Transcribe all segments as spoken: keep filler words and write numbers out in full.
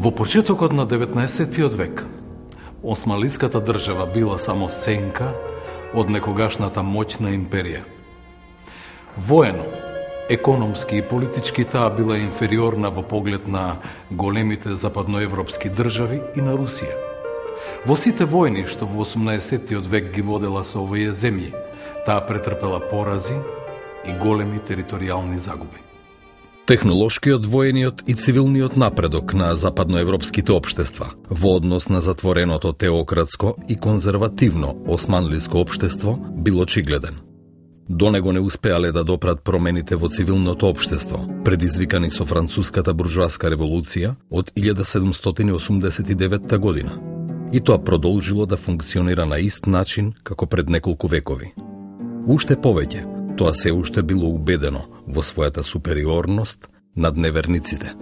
Во почетокот на деветнаесеттиот век, Османлиската држава била само сенка од некогашната моќна империја. Воено, економски и политички таа била инфериорна во поглед на големите западноевропски држави и на Русија. Во сите војни што во осумнаесеттиот век ги водела со овие земји, таа претрпела порази и големи територијални загуби. Технолошкиот, воениот и цивилниот напредок на западноевропските општества во однос на затвореното теократско и конзервативно османлиско општество бил очигледен. До него не успеале да допрат промените во цивилното општество, предизвикани со француската буржоаска револуција од илјада седумстотини осумдесет и девета година. И тоа продолжило да функционира на ист начин како пред неколку векови. Уште повеќе, тоа се уште било убедено во својата супериорност над неверниците.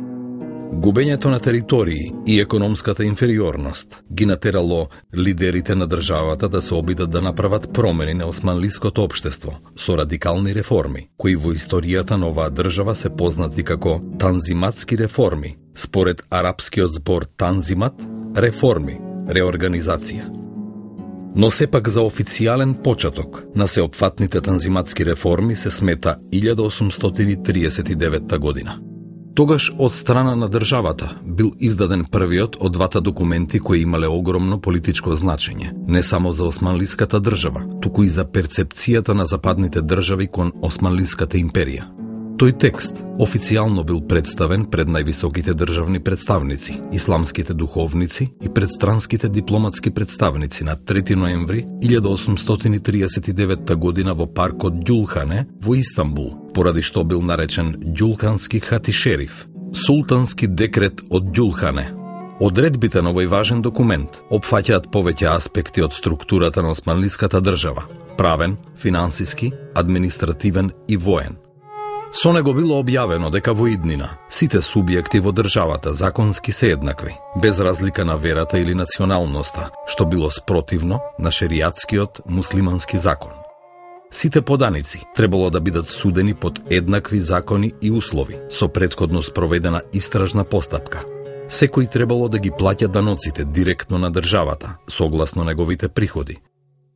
Губењето на територии и економската инфериорност ги натерало лидерите на државата да се обидат да направат промени на османлиското општество со радикални реформи, кои во историјата на оваа држава се познати како танзиматски реформи, според арапскиот збор танзимат, реформи, реорганизација. Но сепак за официјален почеток на сеопфатните танзиматски реформи се смета илјада осумстотини триесет и девета година. Тогаш од страна на државата бил издаден првиот од двата документи кои имале огромно политичко значење, не само за османлиската држава, туку и за перцепцијата на западните држави кон Османлиската империја. Тој текст официјално бил представен пред највисоките државни представници, исламските духовници и предстранските дипломатски представници на трети ноември илјада осумстотини триесет и девета година во паркот Ѓулхане во Истанбул, поради што бил наречен Ѓулхански хатишериф, султански декрет од Ѓулхане. Одредбите на овој важен документ опфаќаат повеќе аспекти од структурата на османлиската држава: правен, финансиски, административен и воен. Со него било објавено дека во иднина сите субјекти во државата законски се еднакви, без разлика на верата или националноста, што било спротивно на шеријатскиот муслимански закон. Сите поданици требало да бидат судени под еднакви закони и услови, со претходно спроведена истражна постапка. Секој требало да ги плаќа даноците директно на државата, согласно неговите приходи.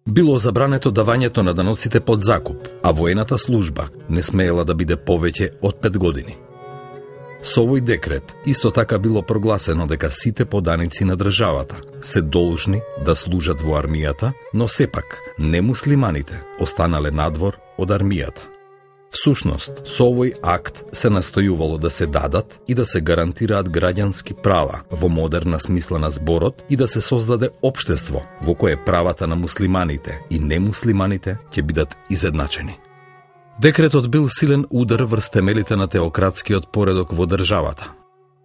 Било забрането давањето на даноците под закуп, а воената служба не смеела да биде повеќе од пет години. Со овој декрет исто така било прогласено дека сите поданици на државата се должни да служат во армијата, но сепак немуслиманите останале надвор од армијата. Всушност, со овој акт се настојувало да се дадат и да се гарантираат граѓански права во модерна смисла на зборот и да се создаде општество во кое правата на муслиманите и немуслиманите ќе бидат изедначени. Декретот бил силен удар врз темелите на теократскиот поредок во државата.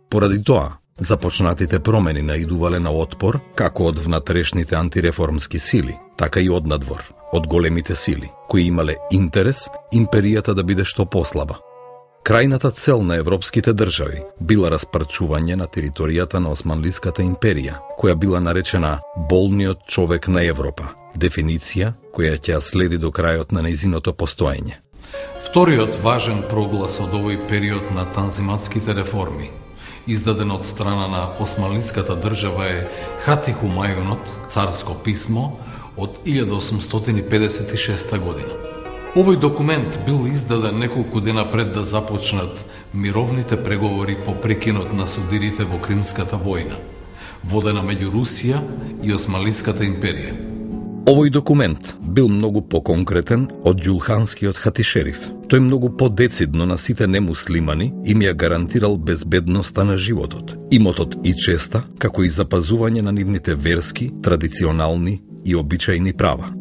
Поради тоа, започнатите промени наидувале на отпор како од внатрешните антиреформски сили, така и од надвор, од големите сили, кои имале интерес империјата да биде што послаба. Крајната цел на европските држави била распарчување на територијата на Османлиската империја, која била наречена болниот човек на Европа, дефиниција која ќе ја следи до крајот на нејзиното постоење. Вториот важен проглас од овој период на танзиматските реформи, издаден од страна на Османлиската држава, е Хати Хумајунот, царско писмо, од илјада осумстотини педесет и шеста година. Овој документ бил издаден неколку дена пред да започнат мировните преговори по прекинот на судирите во Кримската војна, водена меѓу Русија и Османлиската империја. Овој документ бил многу поконкретен од Ѓулханскиот хатишериф. Тој многу подецидно на сите немуслимани им ја гарантирал безбедноста на животот, имотот и честа, како и запазување на нивните верски, традиционални и обичајни права.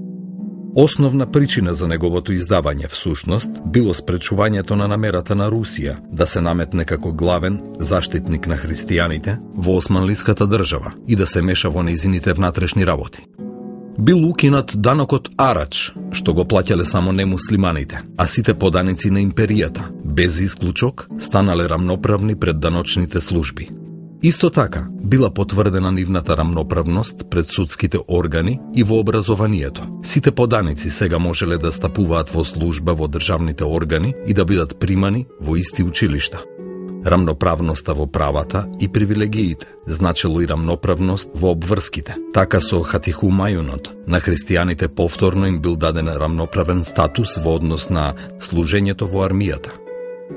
Основна причина за неговото издавање всушност било спречувањето на намерата на Русија да се наметне како главен заштитник на христијаните во Османлиската држава и да се меша во нејзините внатрешни работи. Бил укинат данокот арач, што го плаќале само немуслиманите, а сите поданици на империјата, без исклучок, станале рамноправни пред даночните служби. Исто така, била потврдена нивната рамноправност пред судските органи и во образованието. Сите поданици сега можеле да стапуваат во служба во државните органи и да бидат примани во исти училишта. рамноправноста во правата и привилегиите, значело и рамноправност во обврските. Така со хатихумајунот на христијаните повторно им бил даден рамноправен статус во однос на служењето во армијата.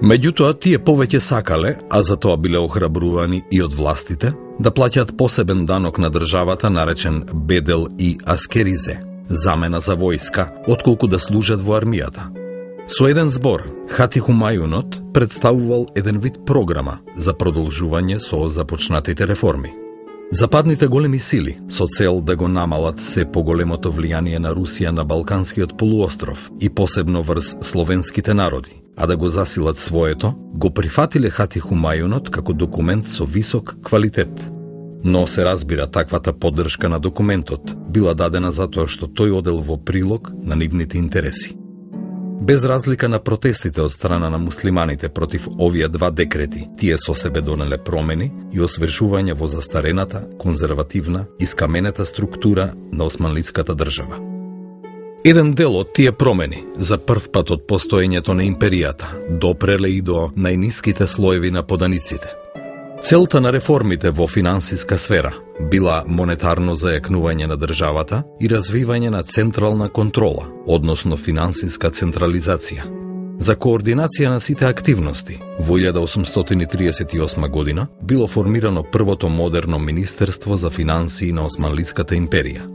Меѓутоа, тие повеќе сакале, а за тоа биле охрабрувани и од властите, да плаќаат посебен данок на државата наречен бедел и аскеризе, замена за војска, отколку да служат во армијата. Со еден збор, хатихумајунот представувал еден вид програма за продолжување со започнатите реформи. Западните големи сили, со цел да го намалат се поголемото влијание на Русија на Балканскиот полуостров и посебно врз словенските народи, а да го засилат своето, го прифатиле хатихумајунот како документ со висок квалитет. Но се разбира, таквата поддршка на документот била дадена затоа што тој одел во прилог на нивните интереси. Без разлика на протестите од страна на муслиманите против овие два декрети, тие со себе донеле промени и освежување во застарената, конзервативна и скаменета структура на османлиската држава. Еден дел од тие промени, за прв пат од постоењето на империјата, допреле и до најниските слоеви на поданиците. Целта на реформите во финансиска сфера била монетарно зајакнување на државата и развивање на централна контрола, односно финансиска централизација. За координација на сите активности, во илјада осумстотини триесет и осма година било формирано првото модерно Министерство за финансии на Османлиската империја.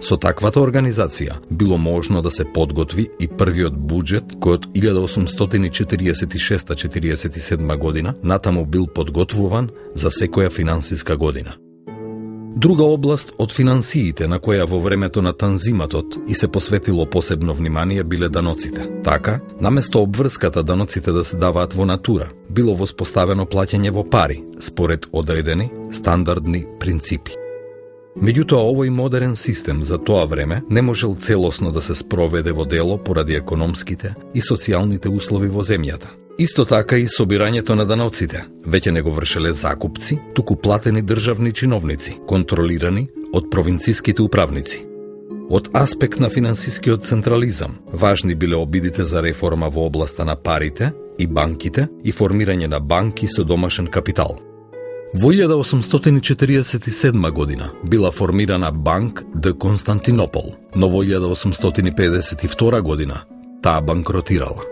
Со таквата организација било можно да се подготви и првиот буџет кој од илјада осумстотини четириесет и шеста - четириесет и седма година натаму бил подготвуван за секоја финансиска година. Друга област од финансиите на која во времето на танзиматот и се посветило посебно внимание биле даноците. Така, наместо обврската даноците да се даваат во натура, било воспоставено плаќање во пари, според одредени стандардни принципи. Меѓутоа, овој модерен систем за тоа време не можел целосно да се спроведе во дело поради економските и социјалните услови во земјата. Исто така и собирањето на даноците веќе не го вршеле закупци, туку платени државни чиновници, контролирани од провинциските управници. Од аспект на финансискиот централизам, важни биле обидите за реформа во областа на парите и банките и формирање на банки со домашен капитал. Во илјада осумстотини четириесет и седма година била формирана Банк де Константинопол, но во илјада осумстотини педесет и втора година таа банкротирала.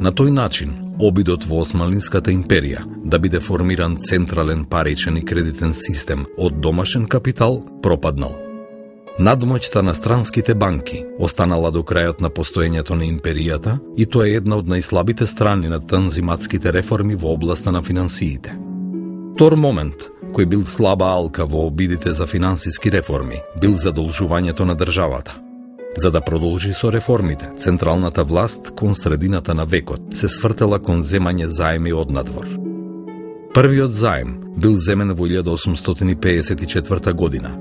На тој начин, обидот во Османлиската империја да биде формиран централен паричен и кредитен систем од домашен капитал пропаднал. Надмоќта на странските банки останала до крајот на постоењето на империјата и тоа е една од најслабите страни на танзиматските реформи во областа на финансиите. Втор момент, кој бил слаба алка во обидите за финансиски реформи, бил задолжувањето на државата. За да продолжи со реформите, централната власт кон средината на векот се свртела кон земање заеми од надвор. Првиот заем бил земен во илјада осумстотини пеесет и четврта година,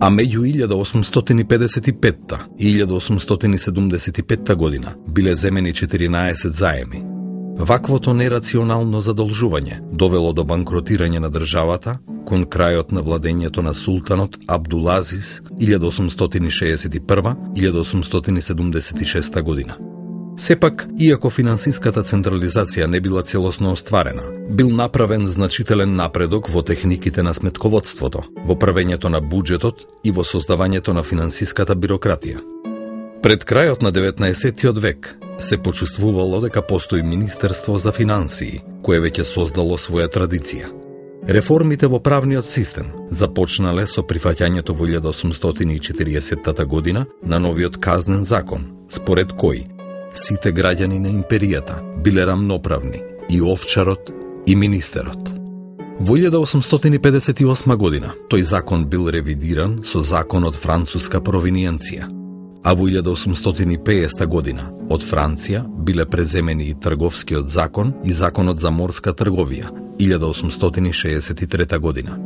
а меѓу илјада осумстотини педесет и петта и илјада осумстотини седумдесет и петта година биле земени четиринаесет заеми. Ваквото нерационално задолжување довело до банкротирање на државата кон крајот на владењето на султанот Абдулазис илјада осумстотини шеесет и прва - илјада осумстотини седумдесет и шеста година. Сепак, иако финансиската централизација не била целосно остварена, бил направен значителен напредок во техниките на сметководството, во правењето на буџетот и во создавањето на финансиската бирократија. Пред крајот на деветнаесеттиот век се почувствувало дека постои Министерство за финансии, кое веќе создало своја традиција. Реформите во правниот систем започнале со прифаќањето во илјада осумстотини и четириесетта година на новиот казнен закон, според кој сите граѓани на империјата биле рамноправни, и овчарот и министерот. Во илјада осумстотини педесет и осма година тој закон бил ревидиран со законот француска провиниенција, а во илјада осумстотини и пеесета година од Франција биле преземени и трговскиот закон и законот за морска трговија илјада осумстотини шеесет и трета година.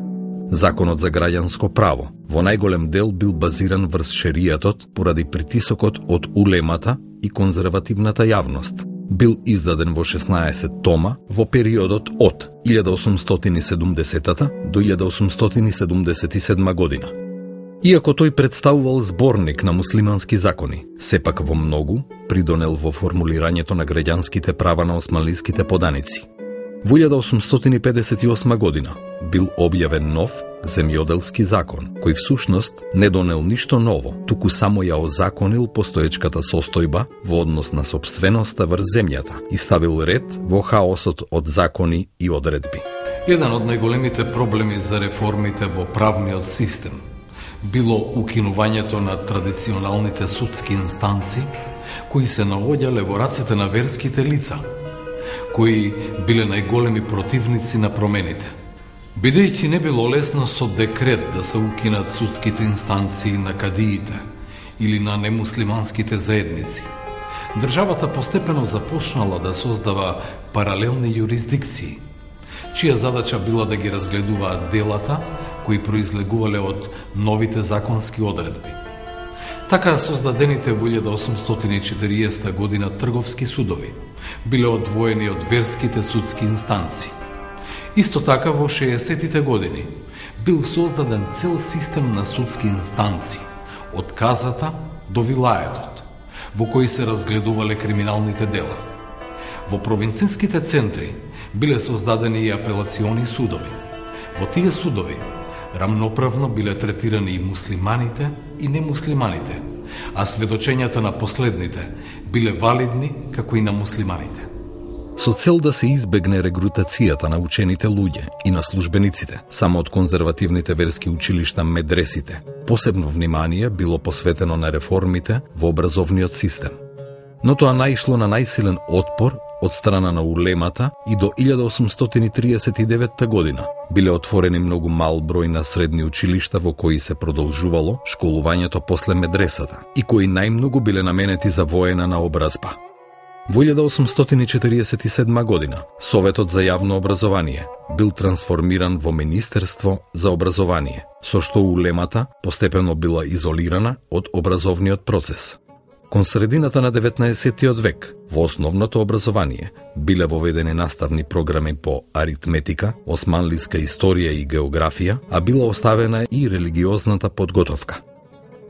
Законот за граѓанско право во најголем дел бил базиран врз шеријатот поради притисокот од улемата и конзервативната јавност. Бил издаден во шеснаесет тома во периодот од илјада осумстотини и седумдесета до илјада осумстотини и седумдесет и седма година. Иако тој представувал зборник на муслимански закони, сепак во многу придонел во формулирањето на граѓанските права на османлиските поданици. Во илјада осумстотини и педесет и осма година бил објавен нов земјоделски закон, кој всушност не донел ништо ново, туку само ја озаконил постоечката состојба во однос на сопственоста врз земјата и ставил ред во хаосот од закони и одредби. Еден од најголемите проблеми за реформите во правниот систем било укинувањето на традиционалните судски инстанци кои се наоѓале во рацете на верските лица, кои биле најголеми противници на промените. Бидејќи не било лесно со декрет да се укинат судските инстанции на кадиите или на немуслиманските заедници, државата постепено започнала да создава паралелни юрисдикции, чија задача била да ги разгледуваат делата кои произлегувале од новите законски одредби. Така создадените во илјада осумстотини и четириесета година трговски судови биле одвоени од верските судски инстанции. Исто така во шеесеттите години бил создаден цел систем на судски инстанции, од казата до вилаетот, во кои се разгледувале криминалните дела. Во провинцијските центри биле создадени и апелациони судови. Во тие судови рамноправно биле третирани и муслиманите и немуслиманите, а сведочењата на последните биле валидни како и на муслиманите. Со цел да се избегне регрутацијата на учените луѓе и на службениците само од конзервативните верски училишта медресите, посебно внимание било посветено на реформите во образовниот систем. Но тоа наишло на најсилен отпор од страна на улемата и до илјада осумстотини триесет и деветта година биле отворени многу мал број на средни училишта во кои се продолжувало школувањето после медресата и кои најмногу биле наменети за воена наобразба. Во илјада осумстотини четириесет и седма година Советот за јавно образование бил трансформиран во Министерство за образование, со што улемата постепено била изолирана од образовниот процес. Кон средината на деветнаесеттиот век во основното образование биле воведени наставни програми по аритметика, османлиска историја и географија, а била оставена и религиозната подготовка.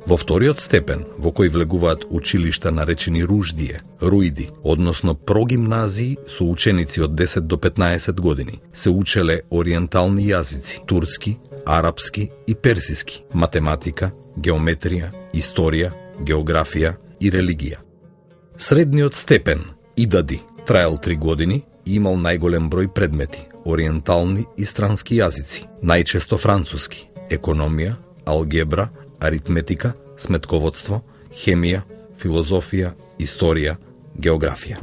Во вториот степен, во кој влегуваат училишта наречени руждие, руиди, односно прогимназии со ученици од десет до петнаесет години, се учеле ориентални јазици, турски, арапски и персиски, математика, геометрија, историја, географија и религија. Средниот степен, идади, траел три години и имал најголем број предмети, ориентални и странски јазици, најчесто француски, економија, алгебра, аритметика, сметководство, хемија, филозофија, историја, географија.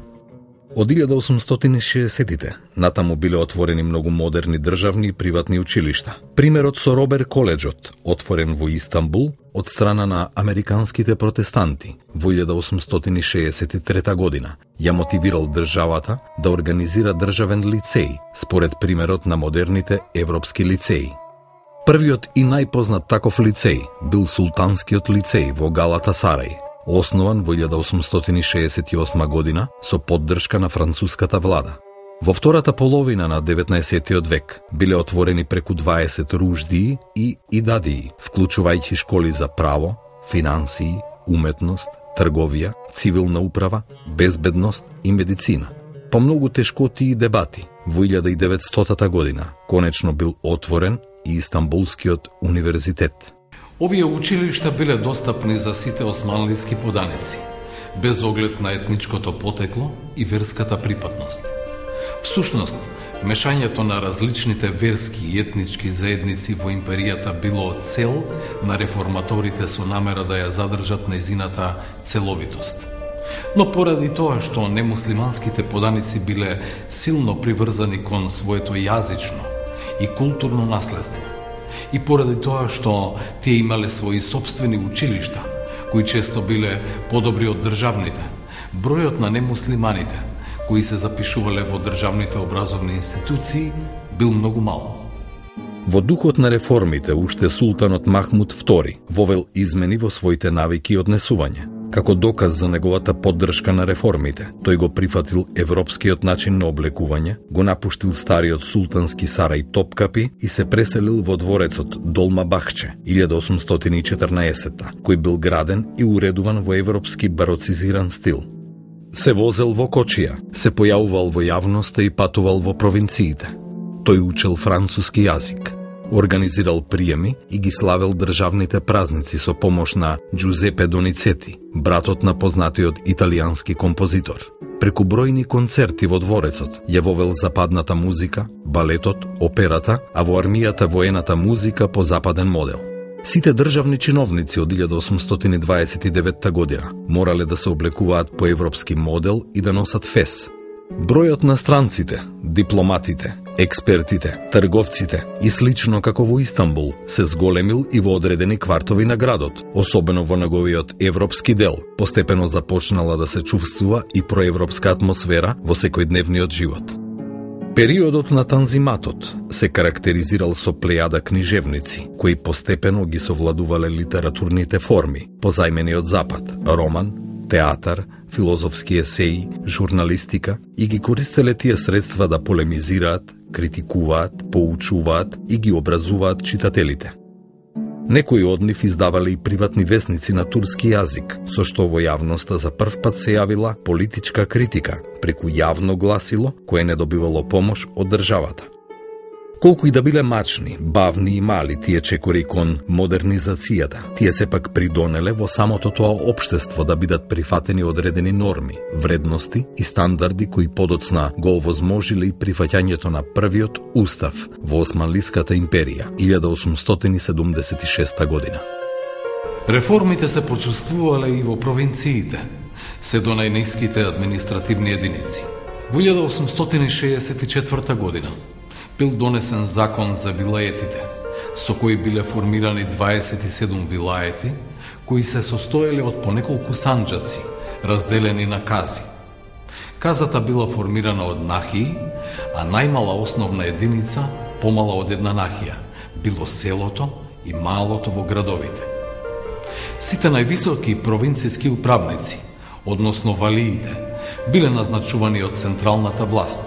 Од илјада осумстотини и шеесеттите натаму биле отворени многу модерни државни и приватни училишта. Примерот со Робер коледжот, отворен во Истанбул од страна на американските протестанти во илјада осумстотини и шеесет и трета година, ја мотивирал државата да организира државен лицеј, според примерот на модерните европски лицеи. Првиот и најпознат таков лицеј бил Султанскиот лицеј во Галата Сарај, основан во илјада осумстотини и шеесет и осма година со поддршка на француската влада. Во втората половина на деветнаесеттиот век биле отворени преку дваесет руждии и идадии, вклучувајќи школи за право, финансии, уметност, трговија, цивилна управа, безбедност и медицина. По многу тешкоти и дебати, во илјада и деветстотата година конечно бил отворен и Истанбулскиот универзитет. Овие училишта биле достапни за сите османлиски поданици, без оглед на етничкото потекло и верската припадност. Всушност, мешањето на различните верски и етнички заедници во империјата било цел на реформаторите со намера да ја задржат нејзината целовитост. Но поради тоа што немуслиманските поданици биле силно приврзани кон своето јазично и културно наследство, и поради тоа што тие имале своји собствени училишта, кои често биле подобри од државните, бројот на немуслиманите кои се запишувале во државните образовни институции бил многу мал. Во духот на реформите, уште султанот Махмуд втори вовел измени во своите навики и однесување. Како доказ за неговата поддршка на реформите, тој го прифатил европскиот начин на облекување, го напуштил стариот султански сарај Топкапи и се преселил во дворецот Долма Бахче, илјада осумстотини и четрнаесетта, кој бил граден и уредуван во европски бароцизиран стил. Се возел во кочија, се појавувал во јавноста и патувал во провинциите. Тој учел француски јазик, организирал приеми и ги славел државните празници со помош на Джузепе Доницети, братот на познатиот италијански композитор. Преку бројни концерти во дворецот ја вовел западната музика, балетот, операта, а во армијата воената музика по западен модел. Сите државни чиновници од илјада осумстотини дваесет и деветта година морале да се облекуваат по европски модел и да носат фес. Бројот на странците, дипломатите, експертите, трговците и слично како во Истанбул се зголемил и во одредени квартови на градот, особено во неговиот европски дел. Постепено започнала да се чувствува и проевропска атмосфера во секојдневниот живот. Периодот на Танзиматот се карактеризирал со плејада книжевници, кои постепено ги совладувале литературните форми, позајмени од Запад, роман, театар, филозофски есеи, журналистика и ги користеле тие средства да полемизираат, критикуваат, поучуваат и ги образуваат читателите. Некои од нив издавале и приватни весници на турски јазик, со што во јавноста за прв пат се јавила политичка критика преку јавно гласило кое не добивало помош од државата. Колку и да биле мачни, бавни и мали тие чекори кон модернизацијата, тие сепак придонеле во самото тоа општество да бидат прифатени одредени норми, вредности и стандарди кои подоцна го овозможиле и прифаќањето на првиот устав во Османлиската империја, илјада осумстотини седумдесет и шеста година. Реформите се почувствувале и во провинциите, се до најниските административни единици. Во илјада осумстотини шеесет и четврта година бил донесен закон за вилаетите, со кои биле формирани дваесет и седум вилаети, кои се состоеле од по неколку санџаци, разделени на кази. Казата била формирана од нахии, а најмала основна единица, помала од една нахија, било селото и малото во градовите. Сите највисоки провинцијски управници, односно валиите, биле назначувани од централната власт,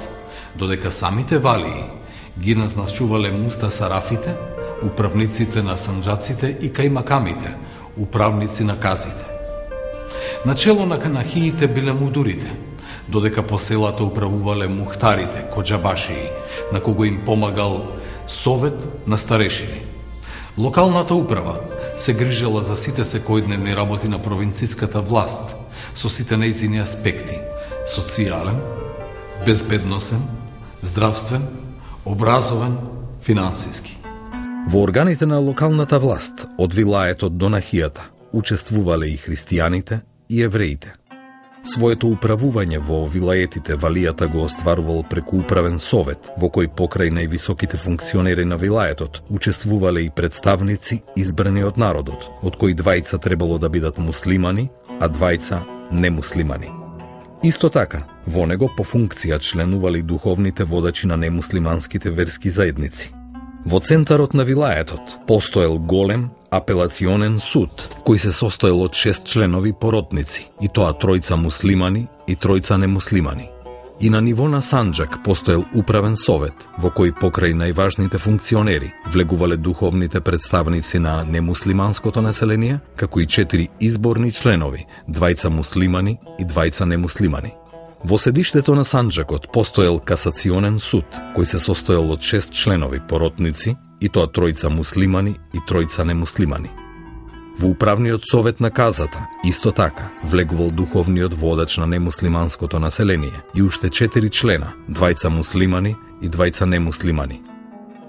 додека самите валии ги назначувале мустасарафите, управниците на санџаците и кајмакамите, управници на казите. Начело на нахиите биле мудурите, додека по селата управувале мухтарите, коџабашии, на кого им помагал совет на старешини. Локалната управа се грижела за сите секојдневни работи на провинцијската власт, со сите нејзини аспекти – социјален, безбедносен, здравствен, образовен, финансиски. Во органите на локалната власт, од вилаетот до нахијата, учествувале и христијаните и евреите. Своето управување во вилаетите валијата го остварувал преку управен совет, во кој покрај највисоките функционери на вилаетот учествувале и представници избрани од народот, од кои двајца требало да бидат муслимани, а двајца немуслимани. Исто така, во него по функција членували духовните водачи на немуслиманските верски заедници. Во центарот на вилаетот постоел голем апелационен суд, кој се состоел од шест членови поротници, и тоа тројца муслимани и тројца немуслимани. И на ниво на Санџак постоел управен совет, во кој покрај најважните функционери влегувале духовните представници на немуслиманското население, како и четири изборни членови, двајца муслимани и двајца немуслимани. Во седиштето на Санџакот постоел касационен суд, кој се состоел од шест членови поротници, и тоа тројца муслимани и тројца немуслимани. Во управниот совет на казата, исто така, влегувал духовниот водач на немуслиманското население и уште четири члена, двајца муслимани и двајца немуслимани.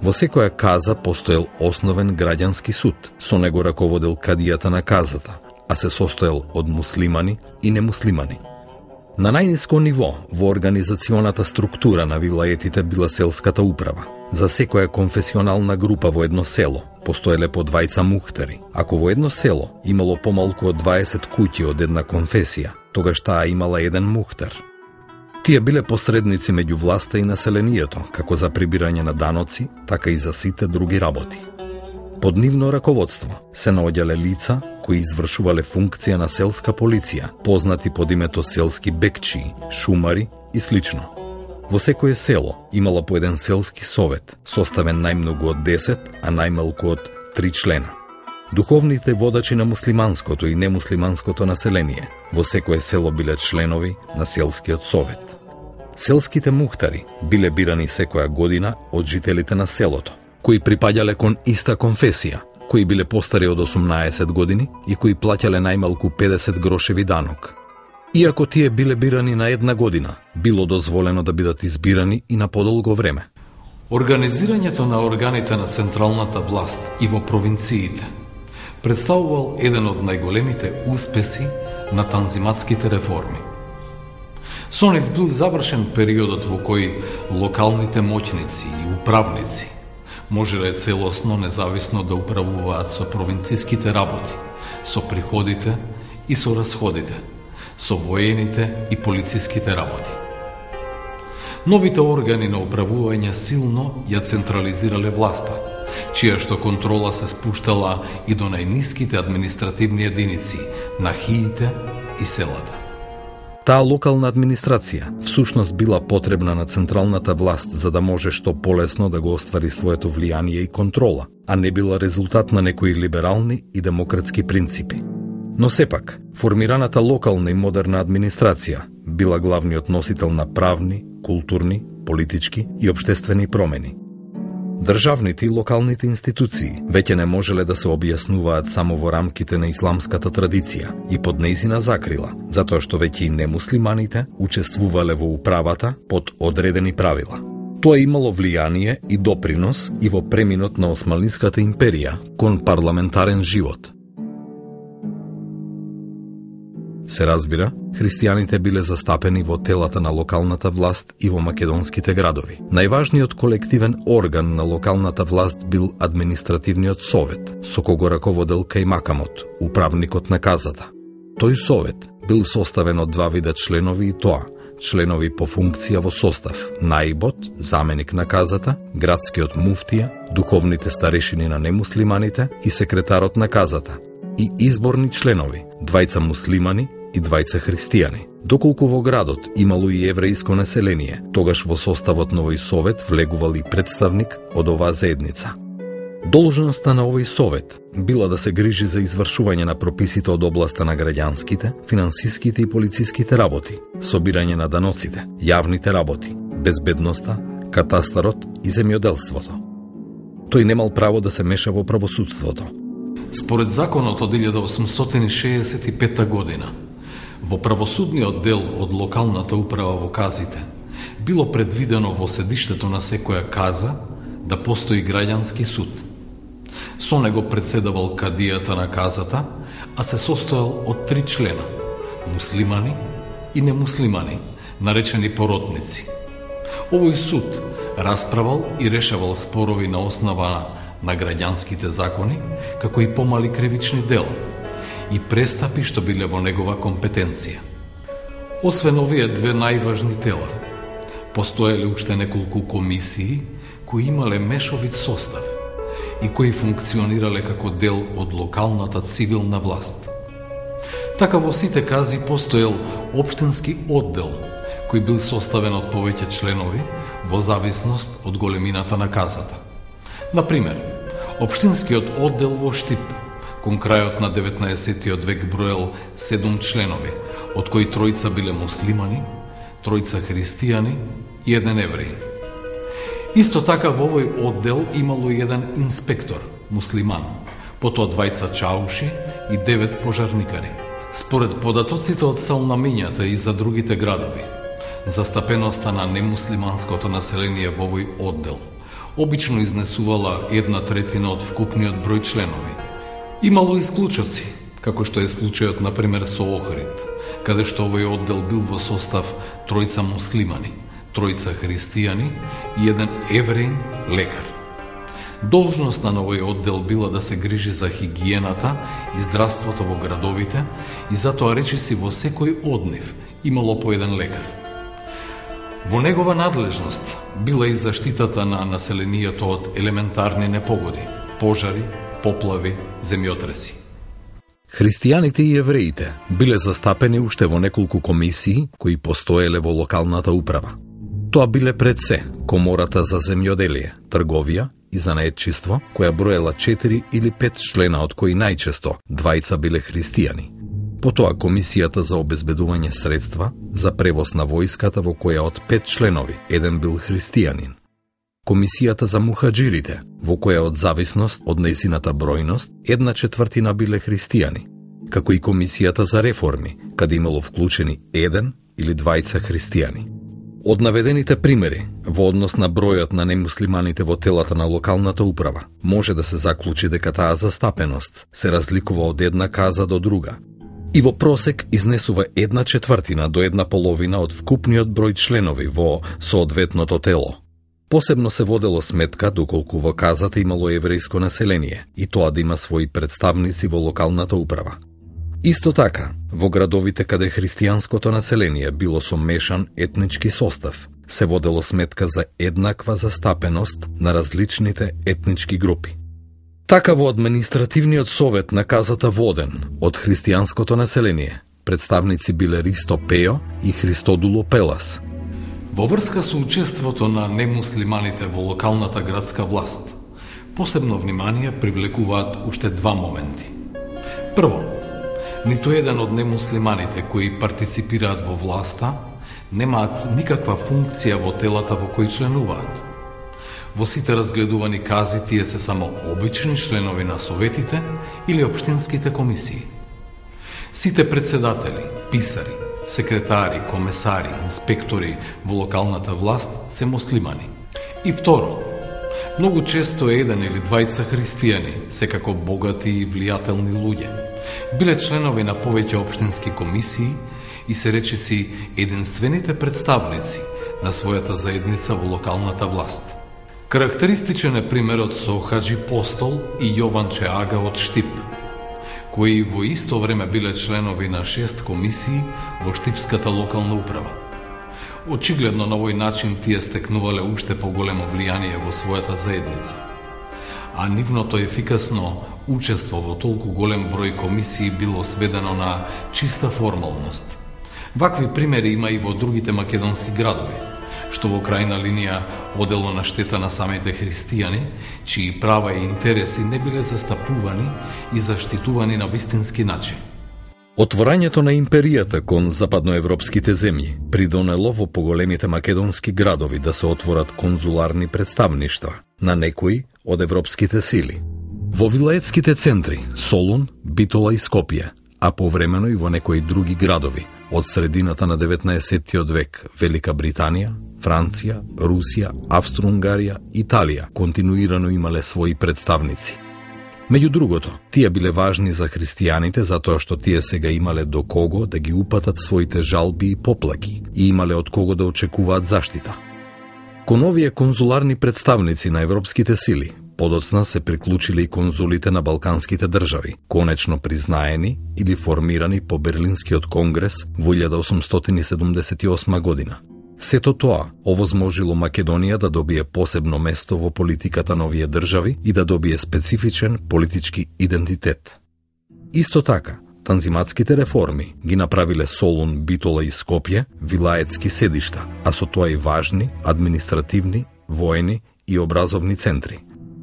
Во секоја каза постоел основен граѓански суд, со него раководел кадијата на казата, а се состоел од муслимани и немуслимани. На најниско ниво во организационата структура на вилаетите била селската управа. За секоја конфесионална група во едно село постоеле по двајца мухтари. Ако во едно село имало помалку од дваесет куќи од една конфесија, тогаш таа имала еден мухтар. Тие биле посредници меѓу власта и населението, како за прибирање на даноци, така и за сите други работи. Под нивно раководство се наоѓале лица кои извршувале функција на селска полиција, познати под името селски бекчии, шумари и слично. Во секое село имало по еден селски совет, составен најмногу од десет, а најмалку од три члена. Духовните водачи на муслиманското и немуслиманското население во секое село биле членови на селскиот совет. Селските мухтари биле бирани секоја година од жителите на селото, кои припаѓале кон иста конфесија, кои биле постари од осумнаесет години и кои плаќале најмалку педесет грошеви данок. Иако тие биле бирани на една година, било дозволено да бидат избирани и на подолго време. Организирањето на органите на централната власт и во провинциите представувал еден од најголемите успеси на танзиматските реформи. Со нив бил завршен периодот во кој локалните моќници и управници можеле целосно независно да управуваат со провинцијските работи, со приходите и со расходите, со воените и полициските работи. Новите органи на управување силно ја централизирале власта, чија што контрола се спуштала и до најниските административни единици на хиите и селата. Таа локална администрација всушност била потребна на централната власт за да може што полесно да го оствари своето влијание и контрола, а не била резултат на некои либерални и демократски принципи. Но сепак, формираната локална и модерна администрација била главниот носител на правни, културни, политички и општествени промени. Државните и локалните институции веќе не можеле да се објаснуваат само во рамките на исламската традиција и под нејзина закрила, затоа што веќе и немуслиманите учествувале во управата под одредени правила. Тоа имало влијание и допринос и во преминот на Османлиската империја кон парламентарен живот. Се разбира, христијаните биле застапени во телата на локалната власт и во македонските градови. Најважниот колективен орган на локалната власт бил административниот совет, со кого раководел кајмакамот, управникот на казата. Тој совет бил составен од два вида членови и тоа, членови по функција во состав, наибот, заменик на казата, градскиот муфтија, духовните старешини на немуслиманите и секретарот на казата, и изборни членови, двајца муслимани и двајца христијани. Доколку во градот имало и еврејско население, тогаш во составот на овој совет влегувал и представник од оваа заедница. Должноста на овој совет била да се грижи за извршување на прописите од областа на граѓанските, финансиските и полициските работи, собирање на даноците, јавните работи, безбедноста, катастарот и земјоделството. Тој немал право да се меша во правосудството. Според законот од илјада осумстотини шеесет и пета година, во правосудниот дел од локалната управа во казите, било предвидено во седиштето на секоја каза да постои граѓански суд. Со него председавал кадијата на казата, а се состоел од три члена – муслимани и немуслимани, наречени поротници. Овој суд расправал и решавал спорови на основа на граѓанските закони, како и помали кривични дела и престапи што биле во негова компетенција. Освен овие две најважни тела, постоеле уште неколку комисии кои имале мешовит состав и кои функционирале како дел од локалната цивилна власт. Така во сите кази постоел општински оддел, кој бил составен од повеќе членови во зависност од големината на казата. Например, општинскиот оддел во Штип кон крајот на деветнаесеттиот век броел седум членови, од кои тројца биле муслимани, тројца христијани и еден евреин. Исто така во овој оддел имало еден инспектор, муслиман, потоа двајца чауши и девет пожарникари. Според податоците од Салнамињата и за другите градови, застапеноста на немуслиманското население во овој оддел обично изнесувала една третина од вкупниот број членови. Имало исклучоци, како што е случајот например со Охрид, каде што овој оддел бил во состав тројца муслимани, тројца христијани и еден евреин лекар. Должноста на овој оддел била да се грижи за хигиената и здравството во градовите и затоа речиси во секој од нив имало по еден лекар. Во негова надлежност била и заштитата на населението од елементарни непогоди, пожари, поплави, земјотреси. Христијаните и евреите биле застапени уште во неколку комисии кои постоеле во локалната управа. Тоа биле пред се комората за земјоделие, трговија и занаетчиство, која броела четири или пет члена, од кои најчесто двајца биле христијани. Потоа комисијата за обезбедување средства за превоз на војската, во која од пет членови еден бил христијанин. Комисијата за мухаџирите, во која од зависност од нејзината бројност една четвртина биле христијани, како и комисијата за реформи, каде имало вклучени еден или двајца христијани. Од наведените примери, во однос на бројот на немуслиманите во телата на локалната управа, може да се заклучи дека таа застапеност се разликува од една каза до друга и во просек изнесува една четвртина до една половина од вкупниот број членови во соодветното тело. Посебно се водело сметка доколку во казата имало еврејско население и тоа да има своји представници во локалната управа. Исто така, во градовите каде христијанското население било со мешан етнички состав, се водело сметка за еднаква застапеност на различните етнички групи. Така во административниот совет на казата воден од христијанското население, представници биле Ристо Пејо и Христодуло Пелас. Во врска со учеството на немуслиманите во локалната градска власт, посебно внимание привлекуваат уште два моменти. Прво, ниту еден од немуслиманите кои партиципираат во власта немаат никаква функција во телата во кои членуваат. Во сите разгледувани кази тие се само обични членови на советите или општинските комисии. Сите председатели, писари, секретари, комесари, инспектори во локалната власт се муслимани. И второ, многу често еден или двајца христијани, секако богати и влијателни луѓе, биле членови на повеќе општински комисии и се речиси единствените представници на својата заедница во локалната власт. Карактеристичен е примерот со Хаджи Постол и Јованче Ага од Штип, кои во исто време биле членови на шест комисии во Штипската локална управа. Очигледно на овој начин тие стекнувале уште поголемо влијание во својата заедница, а нивното ефикасно учество во толку голем број комисии било сведено на чиста формалност. Вакви примери има и во другите македонски градови, што во крајна линија одело на штета на самите христијани, чии права и интереси не биле застапувани и заштитувани на вистински начин. Отворањето на империјата кон западноевропските земји придонело во поголемите македонски градови да се отворат конзуларни представништва на некои од европските сили. Во вилаетските центри Солун, Битола и Скопје, а повремено и во некои други градови од средината на деветнаесеттиот век Велика Британија, Франција, Русија, Австро-Унгарија, Италија континуирано имале своји представници. Меѓу другото, тие биле важни за христијаните затоа што тие сега имале до кого да ги упатат своите жалби и поплаки и имале од кого да очекуваат заштита. Кон овие конзуларни представници на европските сили, подоцна се приклучиле и конзулите на балканските држави, конечно признаени или формирани по Берлинскиот конгрес во илјада осумстотини седумдесет и осма година. Сето тоа овозможило Македонија да добие посебно место во политиката на овие држави и да добие специфичен политички идентитет. Исто така, танзиматските реформи ги направиле Солун, Битола и Скопје вилаетски седишта, а со тоа и важни административни, воени и образовни центри.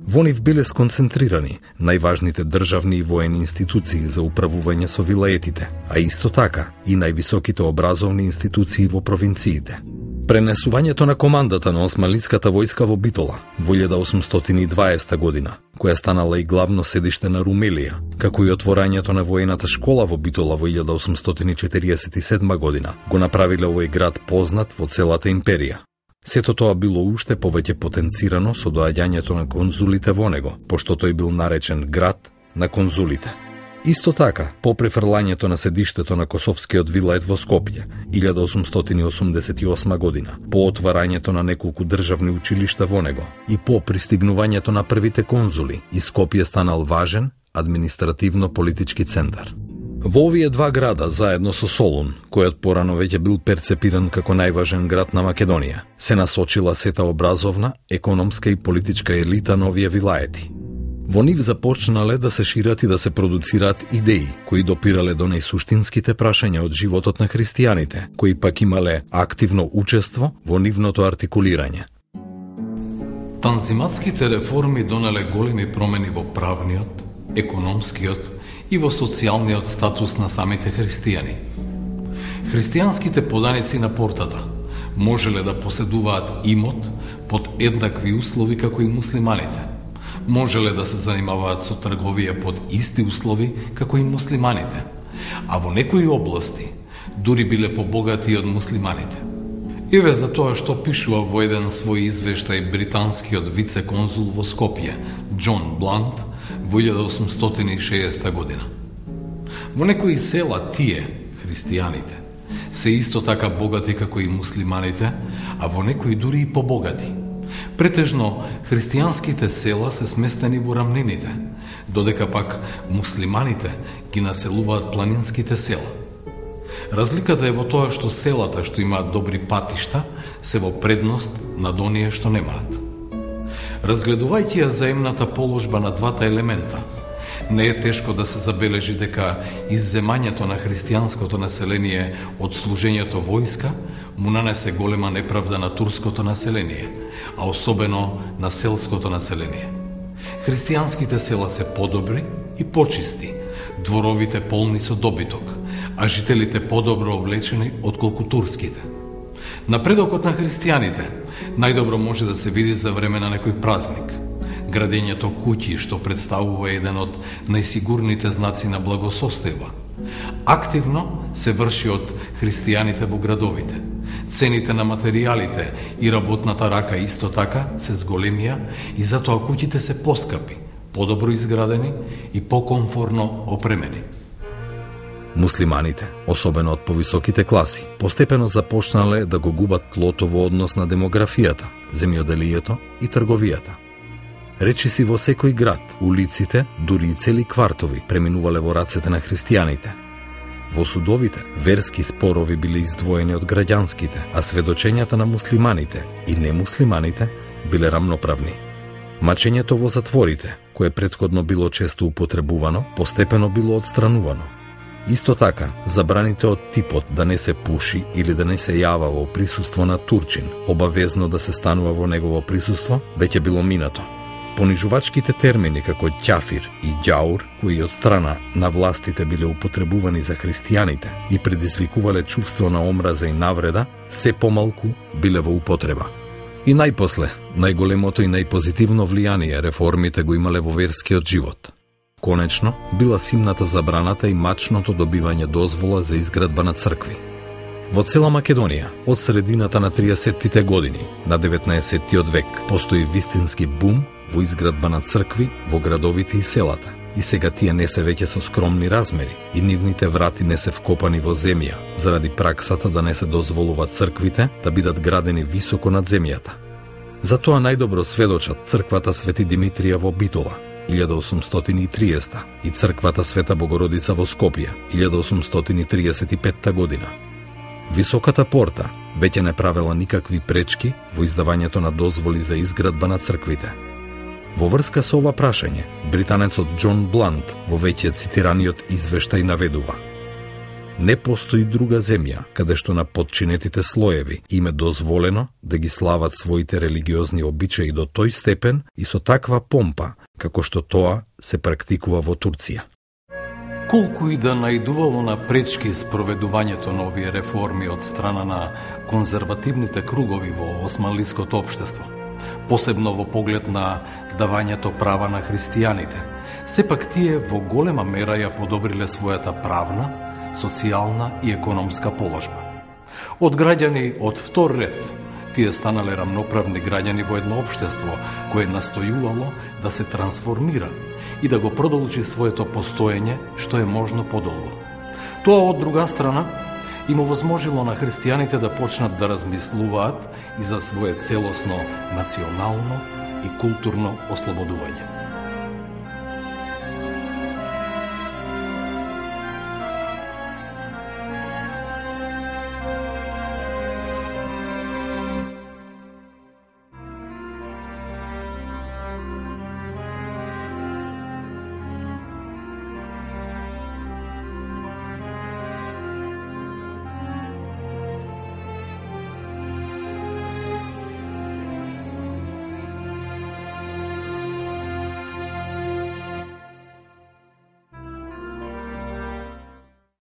Во нив биле сконцентрирани најважните државни и воени институции за управување со вилаетите, а исто така и највисоките образовни институции во провинциите. Пренесувањето на командата на османлиската војска во Битола во илјада осумстотини и дваесета година, која станала и главно седиште на Румелија, како и отворањето на воената школа во Битола во илјада осумстотини четириесет и седма година, го направиле овој град познат во целата империја. Сето тоа било уште повеќе потенцирано со доаѓањето на конзулите во него, пошто тој бил наречен град на конзулите. Исто така, по префрлањето на седиштето на Косовскиот вилает во Скопје, илјада осумстотини осумдесет и осма година, по отварањето на неколку државни училишта во него и по пристигнувањето на првите конзули, и Скопје станал важен административно-политички центар. Во овие два града, заедно со Солун, којот порано веќе бил перцепиран како најважен град на Македонија, се насочила сета образовна, економска и политичка елита на овие вилаети. Во нив започнале да се шират и да се продуцираат идеи кои допирале до најсуштинските прашања од животот на христијаните, кои пак имале активно учество во нивното артикулирање. Танзиматските реформи донеле големи промени во правниот, економскиот и во социјалниот статус на самите христијани. Христијанските поданици на портата можеле да поседуваат имот под еднакви услови како и муслиманите. Можеле да се занимаваат со трговија под исти услови како и муслиманите, а во некои области дури биле побогати од муслиманите. Еве за тоа што пишува во еден свој извештај британскиот вице-конзул во Скопје, Џон Блант, во илјада осумстотини и шеесета година. Во некои села тие, христијаните, се исто така богати како и муслиманите, а во некои дури и побогати. Претежно, христијанските села се сместени во рамнините, додека пак муслиманите ги населуваат планинските села. Разликата е во тоа што селата што имаат добри патишта се во предност над оние што немаат. Разгледувајќи ја заемната положба на двата елемента, не е тешко да се забележи дека изземањето на христијанското население од служењето војска му нанесе голема неправда на турското население, а особено на селското население. Христијанските села се подобри и почисти, дворовите полни со добиток, а жителите подобро облечени отколку турските. Напредокот на христијаните најдобро може да се види за време на некој празник. Градењето куќи, што представува еден од најсигурните знаци на благосостојба, активно се врши од христијаните во градовите. Цените на материјалите и работната рака исто така се зголемија и затоа куќите се поскапи, подобро изградени и покомфорно опремени. Муслиманите, особено од повисоките класи, постепено започнале да го губат тлото во однос на демографијата, земјоделието и трговијата. Речиси во секој град, улиците, дури и цели квартови преминувале во рацете на христијаните. Во судовите, верски спорови биле издвоени од граѓанските, а сведочењата на муслиманите и немуслиманите биле рамноправни. Мачењето во затворите, кое претходно било често употребувано, постепено било отстранувано. Исто така, забраните од типот да не се пуши или да не се јава во присуство на турчин, обавезно да се станува во негово присуство, веќе било минато. Понижувачките термини како ќафир и ѓаур, кои од страна на властите биле употребувани за христијаните и предизвикувале чувство на омраза и навреда, се помалку биле во употреба. И најпосле, најголемото и најпозитивно влијание реформите го имале во верскиот живот. Конечно, била симната забраната и мачното добивање дозвола за изградба на цркви. Во цела Македонија, од средината на триесеттите години на деветнаесеттиот век, постои вистински бум во изградба на цркви во градовите и селата. И сега тие не се веќе со скромни размери и нивните врати не се вкопани во земја, заради праксата да не се дозволува црквите да бидат градени високо над земјата. Затоа најдобро сведочат црквата Свети Димитрија во Битола, илјада осумстотини и триесета, и црквата Света Богородица во Скопје, илјада осумстотини триесет и петта година. Високата порта веќе не правела никакви пречки во издавањето на дозволи за изградба на црквите. Во врска со ова прашање, британецот Џон Блант во веќе цитираниот извештај наведува: не постои друга земја каде што на подчинетите слоеви им е дозволено да ги слават своите религиозни обичаи до тој степен и со таква помпа, како што тоа се практикува во Турција. Колку и да најдувало на пречки спроведувањето на овие реформи од страна на конзервативните кругови во османлиското општество, посебно во поглед на давањето права на христијаните, сепак тие во голема мера ја подобриле својата правна, социјална и економска положба. Од граѓани од втор ред, тие станале рамноправни граѓани во едно општество кое настојувало да се трансформира и да го продолжи своето постоење што е можно подолго. Тоа од друга страна им овозможило на христијаните да почнат да размислуваат и за свое целосно национално и културно ослободување.